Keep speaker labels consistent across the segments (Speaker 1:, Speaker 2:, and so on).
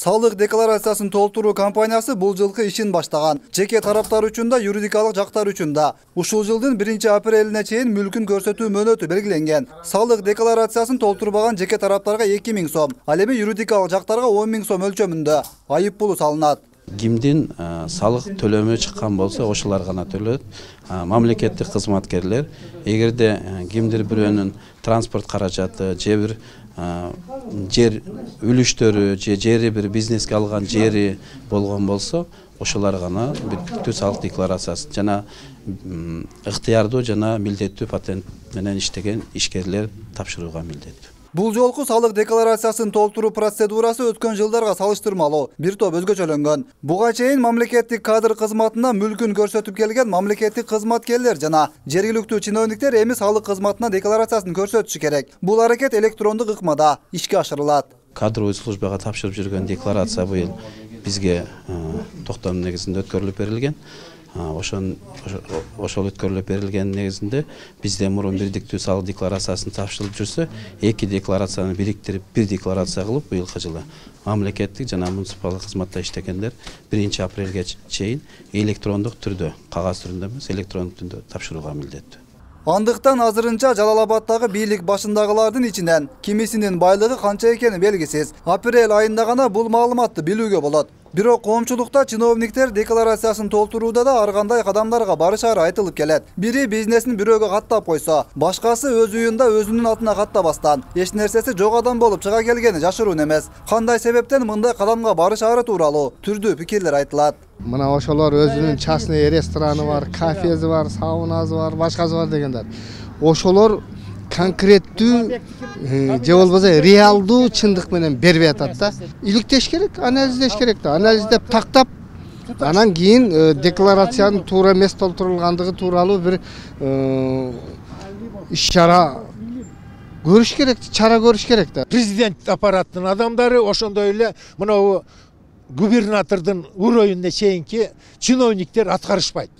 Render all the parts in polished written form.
Speaker 1: Салык декларациясын толтуруу компаниясы бул жылкы ишин баштаган. Жеке тараптар үчүн да, юридикалык жактар үчүн да ушул жылдын 1-апрелине чейин мүлкүн көрсөтүү мөөнөтү белгиленген. Салык декларациясын толтурбаган жеке тараптарга 2000 сом, ал эми юридикалык жактарга 10 000 сом өлчөмүндө айып пулу салынат.
Speaker 2: Кимдин салык төлөмү чыккан болсо ошолор гана төлөт. Мамлекеттик кызматкерлер, эгерде кимдир бирөөнүн транспорт каражаты же бир жер үлүштөрү же жери бир бизнеске алган жери болгон болсо, ошолор гана бүттүү салык декларациясын жана ыктыярдуу жана милдеттүү патент менен иштеген ишкерлер тапшырууга милдеттүү.
Speaker 1: Бул жолку салык декларациясын толтуруу процедурасы өткөн жылдарга салыштырмалуу бир топ өзгөчөлөнгөн. Буга чейин мамлекеттик кадр кызматына мүлкүн көрсөтүп келген мамлекеттик кызматкерлер жана жергиликтүү чиновниктер эми салык кызматына декларациясын көрсөтүшү керек. Бул аракет электрондук ыкмада ишке ашырылат.
Speaker 2: Кадровый службага тапшырып жүргөн декларация быйыл бизге токтом негизинде өткөрүлүп берилген. Ошол өткөрүлүп берилген негизинде бизде мурун бирдиктүү салык декларациясын тапшырылып жүрсө, эки декларацияны бириктирип бир декларация кылып, быйылкы жылы мамлекеттик жана муниципалдык кызматта иштегендер 1-апрелге чейин электрондук түрдө, кагаз түрүндө эмес, электрондук түрдө тапшырууга милдеттүү.
Speaker 1: Андыктан азырынча Жалал Абадтагы бийлик башындагылардын ичинен кимисинин байлыгы канча экени белгисиз. Апрель айында гана бул маалыматты билүүгө болот. Бирок коомчулукта чиновниктер декларациясын толтурууда да ар кандай кадамдарга барышары айтылып келет. Бири бизнесин бирөөгө каттап койсо, башкасы өз уюнда өзүнүн атына каттабастан эч нерсеси жок адам болуп чыга келгени жашыруун эмес. Кандай себептен мындай кадамга барышары тууралуу түрдүү пикирлер айтылат.
Speaker 3: Мына ошолор өзүнүн частный рестораны бар, кафеси бар, саунасы бар, башкасы бар дегендер. Ошолор конкреттүү же болбосо реалдуу чындык менен бербей атат да. Иликтеш керек, анализдеш керек да. Анализдеп тактап, анан кийин декларациянын туура эмес толтурулгандыгы тууралуу бир иш-чара көрүш керек, чара көрүш керек да.
Speaker 4: Президент аппараттын адамдары ошондой эле мына губернатордун уровенине чейинки чиновниктер аткарышпайт.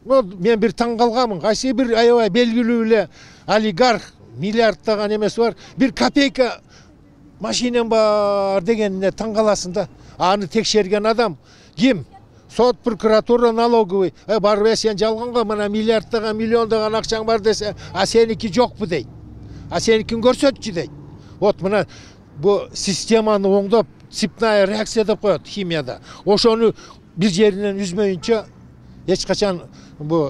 Speaker 4: Мен бир таң калганмын. Кайсы бир аябай белгилүү эле олигарх, миллиардтаган эмес бар, бир копейка машинем бар дегенине таң каласың да. Аны текшерген адам ким? Сот, прокуратура, налоговый. Барбы сен жалганга мына миллиардтаган, миллиондаган акчаң бар десе, а сеники жокпу дейт. А сеникин көрсөтчү дейт. Вот мына бу системаны оңдоп, цепная реакция деп коет химияда. Ошону бир жеринен үзмөйүнчө эч качан бу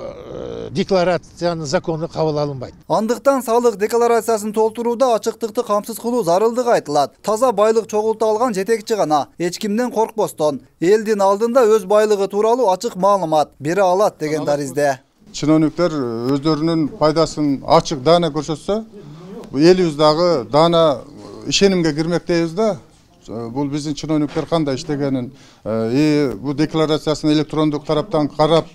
Speaker 4: декларациянын закону кабыл алынбайт.
Speaker 1: Андыктан салык декларациясын толтурууда ачыктыкты камсыз кылуу зарылдыгы айтылат. Таза байлык чогулта алган жетекчи гана эч кимден коркпостон элдин алдында өз байлыгы тууралуу ачык маалымат бере алат деген даризде.
Speaker 5: Чиновниктер өздөрүнүн пайдасын ачык даана көрсөтсө, элибиз дагы даана ишенимге кирмек дейбиз да. Бул биздин чиновниктер кандай иштегенин, бу декларациясын электрондук тараптан карап,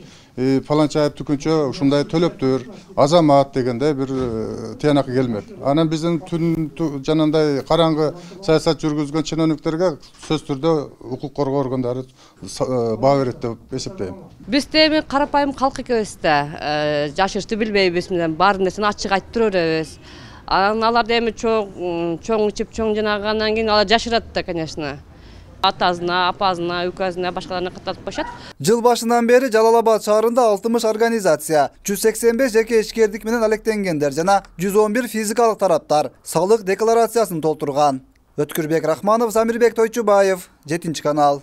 Speaker 5: фаланча айып түкүнчө ушундай төлөптүр, азамат дегенде бир тыянак келмек. Анан биздин жанагындай караңгы саясат жүргүзгөн чиновниктерге сөз түрдө укук коргоо органдары баа берет деп эсептейм.
Speaker 6: Биз эми карапайым калк экебиз да, жашышты билбейбиз, бар нерсени ачык айтып тура беребиз. Алар эми чоң ичип, чоң жанагандан кийин алар жашырат да, конечно. Атасына, апасына, үкөзүнө, башкаларына каттатып коюшат.
Speaker 1: Жыл башынан бери Жалал Абад шаарында 60 организация, 185 жеке ишкердик менен алектенгендер жана 111 физикалык тараптар салык декларациясын толтурган. Өткүрбек Рахманов, Замирбек Тойчубаев, 7 канал.